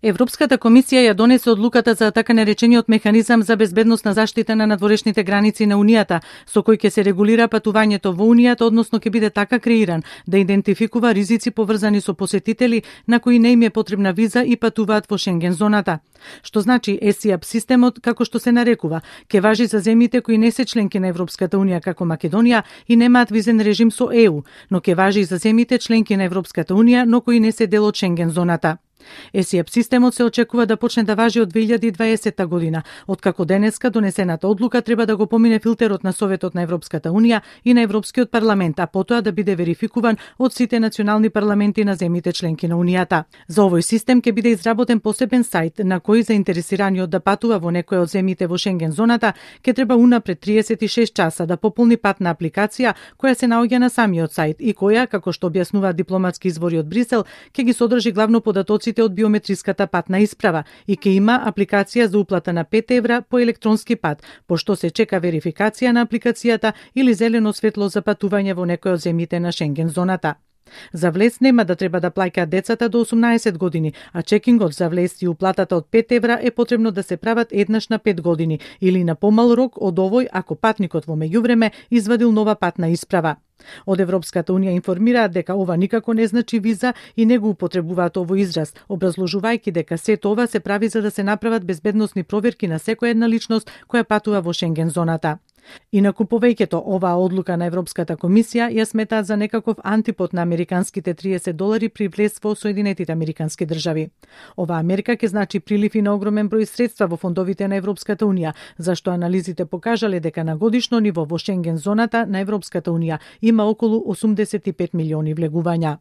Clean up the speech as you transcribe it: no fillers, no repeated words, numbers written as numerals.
Европската комисија ја донесе одлуката за така наречениот механизам за безбедносна заштита на надворешните граници на Унијата, со кој ќе се регулира патувањето во Унијата, односно ќе биде така креиран да идентификува ризици поврзани со посетители на кои не им е потребна виза и патуваат во Шенген зоната. Што значи ESIAP системот, како што се нарекува, ќе важи за земјите кои не се членки на Европската Унија како Македонија и немаат визен режим со ЕУ, но ќе важи и за земјите членки на Европската Унија, но кои не се дел од Шенген зоната. ESIAP системот се очекува да почне да важи од 2020 година, откако денеска донесената одлука треба да го помине филтерот на Советот на Европската Унија и на Европскиот парламент, а потоа да биде верификуван од сите национални парламенти на земјите членки на Унијата. За овој систем ќе биде изработен посебен сајт на кој заинтересираниот да патува во некоја од земјите во Шенген зоната ќе треба унапред 36 часа да пополни патна апликација која се наоѓа на самиот сајт и која, како што објаснуваат дипломатски извори од Брисел, ќе ги содржи главно податоците од биометриската патна исправа и ќе има апликација за уплата на 5 евра по електронски пат, пошто се чека верификација на апликацијата или зелено светло за патување во некој од земјите на Шенген зоната. За влез нема да треба да плаќаат децата до 18 години, а чекингот за влез и уплатата од 5 евра е потребно да се прават еднаш на 5 години или на помал рок од овој ако патникот во меѓувреме извадил нова патна исправа. Од Европската Унија информираат дека ова никако не значи виза и не го употребуваат овој израз, образложувајќи дека сето ова се прави за да се направат безбедносни проверки на секоја една личност која патува во Шенген зоната. Инаку повеќето оваа одлука на Европската комисија ја сметаат за некаков антипод на американските $30 при влез во Соединетите американски држави. Оваа мерка ќе значи прилив и на огромен број средства во фондовите на Европската Унија, зашто анализите покажале дека на годишно ниво во Шенген зоната на Европската Унија има околу 85 милиони влегувања.